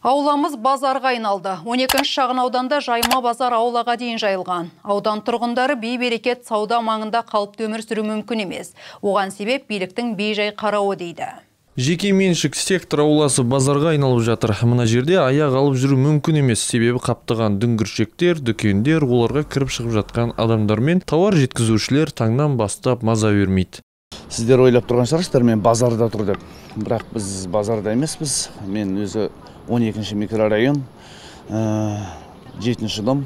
Ауламыз базарға айналды. 12 шағын ауданда жайма базар аулаға дейін жайылған. Аудан тұрғындары бей-берекет сауда маңында қалыпты өмір сүру мүмкін емес. Оған себеп биліктің бей-жай қарауы дейді. Жеке меншік сектор ауласы базарға айналып жатыр. Мына жерде аяқ алып жүру мүмкін емес. Себебі қаптаған дүңгіршектер, дүкендер, оларға кіріп шығып жатқан адамдар мен тауар жеткізушілер таңнан бастап маза бермейді. Сіздер ойлап тұрған шығарсыздар, мен базарда тұр деп. Бірақ біз базарда емеспіз. Мен өзі 12-ші микрорайон, 7-ші дом.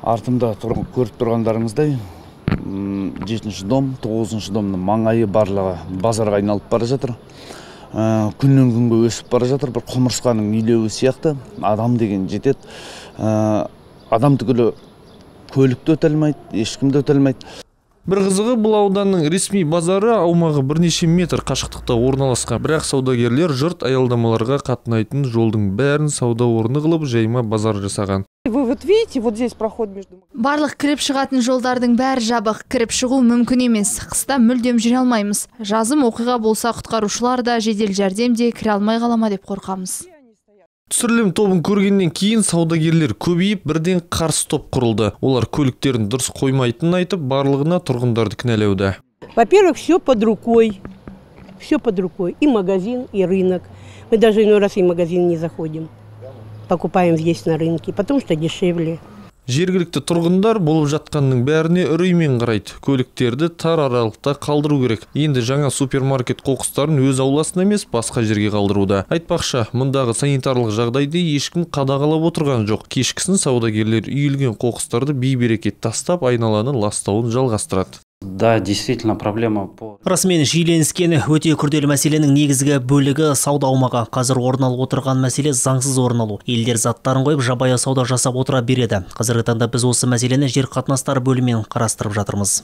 Артымда көріп тұрғандарыңыздай, 7-ші дом, 9-ші домның маңайы барлығы базарға айналып бара жатыр. Күннен күнге өсіп бара жатыр. Бір құмырсқаның үйлеуі сияқты адам деген жетеді. Адам түгілі көлікті өте алмайды, ешкімді өте алмайды. Бір қызығы, бұл ауданның ресми базары аумағы бірнеше метр қашықтықта орналасқан. Бірақ саудагерлер жұрт аялдамаларға қатынайтын жолдың бәрін сауда орны қылып жайма базар жасаған. Вы вот видите, вот здесь проход между... Барлық кіріп шығатын жолдардың бәрі жабық, кіріп шығу мүмкін емес. Қыста мүлдем жүре алмаймыз. Жазым оқиға болса құтқарушылар да, жедел жәрдем де кіре алмай қалама деп қорқамыз. Түсірілім тобын көргеннен кейін саудагерлер көбейіп, бірден қарсы топ құрылды. Олар көліктерін дұрыс қоймайтынын айтып, барлығына тұрғындарды кінәлауда. Во-первых, все под рукой. Все под рукой. И магазин, и рынок. Мы даже иной раз и в магазин не заходим. Покупаем здесь на рынке, потому что дешевле. Жергілікті тұрғындар болып жатқанның бәріне үреймен қарайды. Көліктерді тар аралықта қалдыру керек. Енді жаңа супермаркет қоқыстарын өз ауласына емес, басқа жерге қалдыруда. Айтпақшы, мұндағы санитарлық жағдайды ешкім қадағалап отырған жоқ. Кешкісін саудагерлер үйілген қоқыстарды бей-берекет тастап, айналаны ластауын жалғастырады. Да, действительно, проблема по... Расымен жиіленіскен өте күрделі мәселенің негізгі бөлігі сауда аумағы. Қазір орын алып отырған мәселе заңсыз орын алу. Елдер заттарын қойып жабайы сауда жасап отыра береді. Қазіргі таңда біз осы мәселені жер қатынастары бөлімімен қарастырып жатырмыз.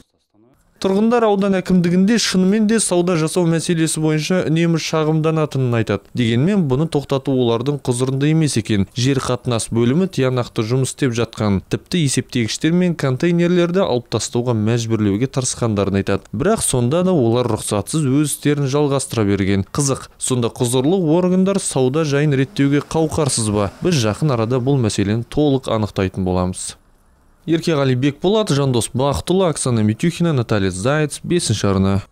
Тұрғындар аудан әкімдігінде шынымен де сауда жасау мәселесі бойынша үнемі шағымданатынын айтады. Дегенмен бұны тоқтату олардың құзырында емес екен. Жер қатынас бөлімі тиянақты жұмыс істеп жатқан. Тіпті есептегіштер мен контейнерлерді алып тастауға мәжбүрлеуге тырысқандарын айтады. Бірақ сонда да олар рұқсатсыз өз істерін жалғастыра берген. Қызық, сонда құзырлы органдар сауда жайын реттеуге қауқарсыз ба? Біз жақын арада бұл мәселені толық анықтайтын боламыз. Еркеғали Бекболат, Жандос Бақтұлы, Оксана Митюхина, Наталья Заяц, 5-ші арна.